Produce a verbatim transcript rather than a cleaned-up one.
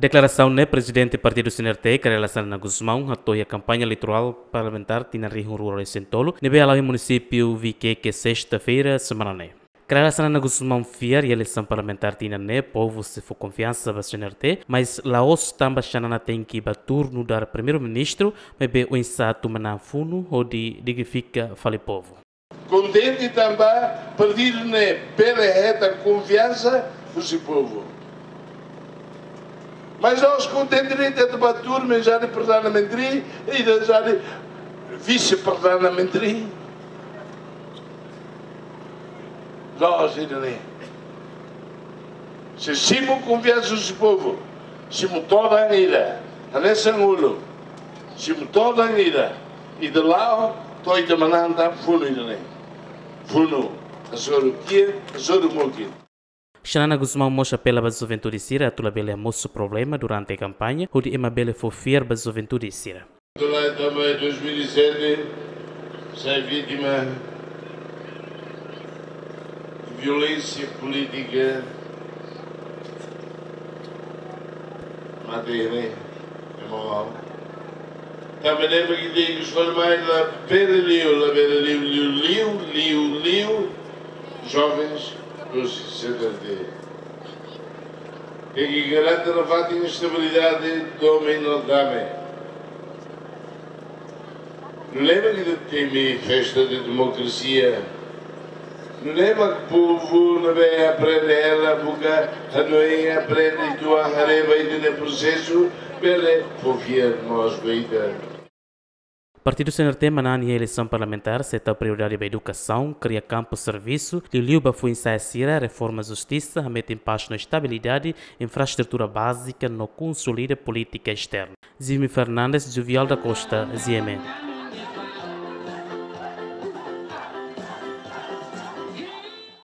Deklarasaun ne'e Prezidente Partidu C N R T, Kay Rala Xanana Gusmão, hato'o iha kampaña eleitorál parlamentár tinan rihun rua ruanulu-resin-tolu, ne'ebé hala'o iha munisípiu Viqueque, sesta-feira semana ne'e. Kay Rala Xanana Gusmão fiar iha eleisaun parlamentár tinan ne'e povu sei fó konfiansa ba C N R T, mas la'ós tanba Xanana tenke bá tuur nu'udar Primeiru-Ministru, maibé oinsá atu manán funu hodi dignifika fali povu. Kontente tanba partidu ne'e bele hetan konfiansa husi povu. Mas la'ós kontente de'it atu bá tuur menjadi Perdana Menteri, ida jadi Vise-Perdana Menteri. La'ós ida-ne'e. Se simu konfiansa husi povu, simu todan ida, hanesan uluk, simu todan ida, ida la'o, to'o ita manán tan funu ida-ne'e. Funu, hasoru kiak, hasoru mukit. Xanana Gusmão mós apela ba juventude sira atu labele hamosu problema durante kampaña, hodi ema bele fó fiar ba juventude sira. Durante também dois mil e sete, sai vítima de violência política. Mate ne'e, é mau. Também lembra que tem que escolher mais lá, pele liu, lá, pele liu, liu, liu, liu, liu, jovens dos C N R T. Tenke garante nafatin estabilidade domin no dame. Nune'e mak ita temi festa de demokrasia. Nune'e mak povu ne'ebé aprende hela buka hanoin, aprende tuan haree ba ita-nia prosesu, bele fó fiar mós ba ita. Partidu C N R T manán iha eleisaun parlamentár sei tau prioridade ba edukasaun, kria kampu servisu, liuliu ba foin-sa'e sira, reforma justisa, hametin pás no estabilidade, infraestrutura bázika no konsolida polítika esterna. Jimmy Fernandes, Juvial da Costa, G M N.